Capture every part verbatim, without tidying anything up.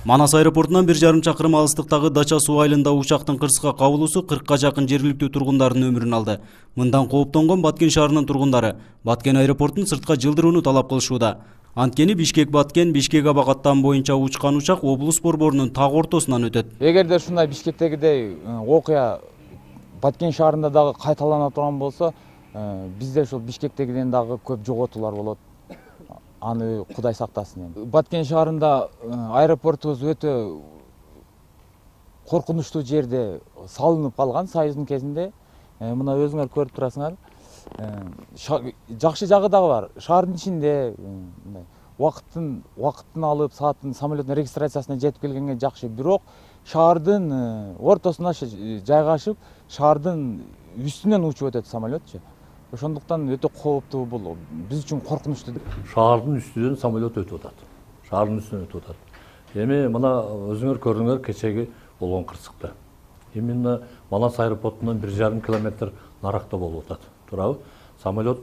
Манас аэропортунан бир жарым чакырым алыстыктагы Дача суу айылында учактын кырсыкка кабылуусу кыркка жакын жергиликтүү тургундардын өмүрүн алды. Мындан кооптонгон Баткен шаарынын тургундары Баткен аэропортун сыртка жылдырууну талап кылышууда. Анткени Бишкек-Баткен, Бишкек-Абакаттан боюнча учкан учак облус борборунун так ортосунан өтөт. Эгерде ушундай Бишкектегидей окуя Баткен шаарында дагы кайталана турган болсо, бизде ушул Бишкектегиден дагы көп жоготуулар болот. Аны Кудай сактасын. Баткен шаарында аэропортубуз өтө коркунучтуу жерде салынып калган Союздун кезинде. Мына өзүңөр көрүп турасыңар. Жакшы жагы дагы бар. Шаардын ичинде убакыттын убакыттын алып, сааттын, самолеттин регистрациясына жетип келгенге жакшы. Бирок шаардын ортосуна жайгашып, шаардын үстүнөн учуп өтөт самолетчу. Ошондуктан өтө кооптуу бул. Биз үчүн коркунучтуу. Шаардын үстүнөн самолет өтүп атат. Шаардын үстүнөн өтүп атат. Эми мына өзүңөр көрдүңөр кечеги болгон кырсыкта. Именно Манас аэропортунан бир жарым километр наракта болуп атат. Туурабы? Самолет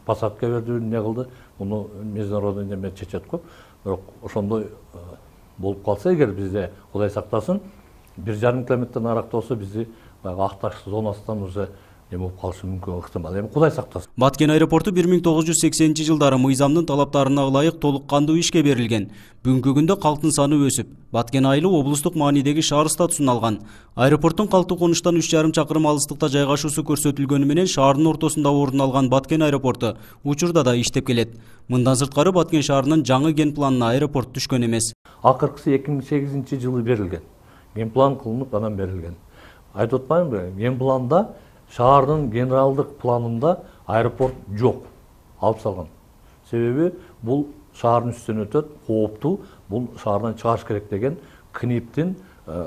посадка берди, эмне кылды? Муну международный неме чечет го. Бирок ошондой болуп калса эгер бизде Кудай сактасын, бир жарым километр наракта болсо бизди баягы акташ зонасынан уже эме болуп калышы мүмкүн ыктымал. Эми Кудай сактасын. Баткен аэропорту бир миң тогуз жүз сексенинчи жылдары мыйзамдын талаптарына ылайык толук кандуу ишке берилген. Бүгүнкү күндө калктын саны өсүп, Баткен айылы облустук маанидеги шаар статусун алган. Аэропорттун калктуу конуштан үч жарым чакырым алыстыкта жайгашуусу көрсөтүлгөнү менен шаардын ортосунда орун алган Баткен аэропорту учурда да иштеп келет. Мындан сырткары Баткен шаарынын жаңы ген планына аэропорт түшкөн эмес. Акыркысы эки миң сегизинчи жылы берилген. Ген план кылынып анан берилген. Айтып атпаймынбы? Ген планда шаардын генералдык планында аэропорт жок, алып салган. Себеби бул шаардын үстүнөн өтөт, кооптуу, бул шаардан чыгыш керек деген КНИПтин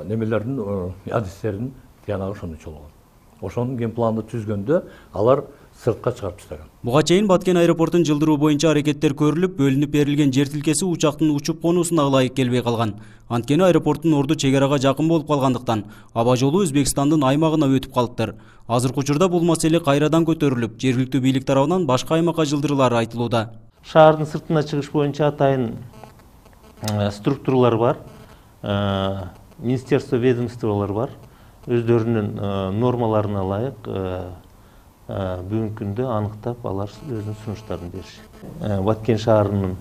немелердин адистерин тиянагы ошондой болгон. Ошонун ген планды түзгөндө алар сыртка чыгарып таштаган. Буга чейин Баткен аэропортун жылдыруу боюнча аракеттер көрүлүп, бөлүнүп берилген жер тилкеси учактын учуп конуусуна ылайык келбей калган. Анткени аэропорттун орду чек арага жакын болуп калгандыктан аба жолу Өзбекстандын аймагына өтүп калыптыр. Азыркы учурда бул маселе кайрадан көтөрүлүп, жергиликтүү бийлик тарабынан башка аймакка жылдырылары айтылууда. Шаардын сыртына чыгыш боюнча атайын структуралар бар, министерство ведомстволор бар. Өздөрүнүн нормаларына ылайык бүгүнкү күндө аныктап алар өзүнүн сунуштарын беришет. Баткен шаарынын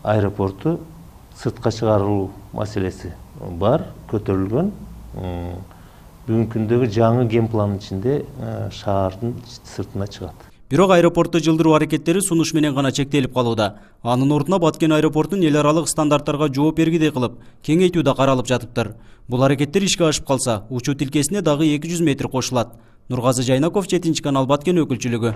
аэропорту сыртка чыгарылуу маселеси бар, көтөрүлгөн. Бүгүнкү күндөгү жаңы ген пландын ичинде шаардын сыртына чыгат. Бирок аэропорту жылдыруу аракеттери сунуш менен гана чектелип калууда. Анын ордуна Баткен аэропортун эл аралык стандарттарга жооп бергидей кылып, кеңейтүү да каралып жатыптыр. Бул аракеттер ишке ашып калса, учуу тилкесине дагы эки жүз метр кошулат. Нургазы Жайнаков, жетинчи канал, Баткен өкүлчүлүгү.